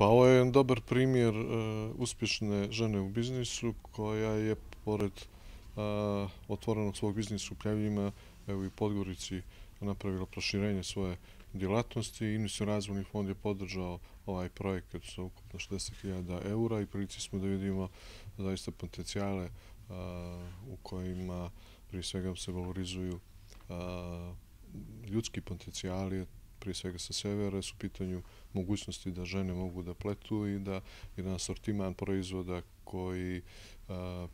Pa ovo je jedan dobar primjer uspješne žene u biznisu koja je pored otvorenog svog biznisa u Pljevljima, evo i Podgorici, napravila proširenje svoje djelatnosti. Investicioni razvojni fond je podržao ovaj projekat sa ukupno 60.000 eura i prilici smo da vidimo zaista potencijale u kojima prije svega se valorizuju ljudski potencijali, prije svega sa severa, su u pitanju mogućnosti da žene mogu da pletu i da jedan asortiman proizvoda koji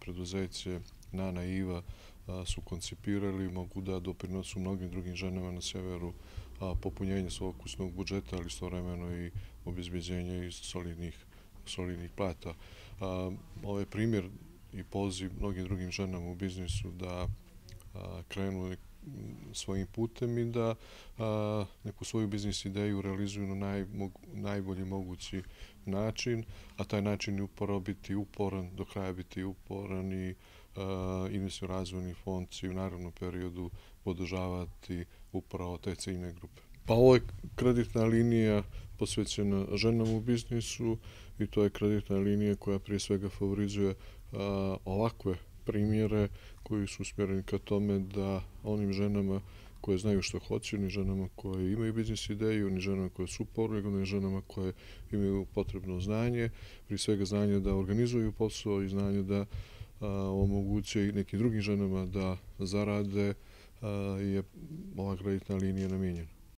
preduzeće Nana i Iva su koncipirali mogu da doprinosu mnogim drugim ženama na severu popunjenje svog kućnog budžeta, ali istovremeno i obezbeđenje iz solidnih plata. Ovo je primjer i poziv mnogim drugim ženama u biznisu da krenu svojim putem i da neku svoju biznis ideju realizuju na najbolji mogući način, a taj način je upravo biti uporan, do kraja biti uporan i investicioni razvojni fond će u narednom periodu podržavati upravo te ciljne grupe. Pa ovo je kreditna linija posvećena ženama u biznisu i to je kreditna linija koja prije svega favorizuje ovakve primjere koji su usmjereni ka tome da onim ženama koje znaju što hoće, ni ženama koje imaju biznis ideju, ni ženama koje su uporne, ni ženama koje imaju potrebno znanje, prije svega znanje da organizuju posao i znanje da omoguće i nekim drugim ženama da zarade, je ova kreditna linija namijenjena.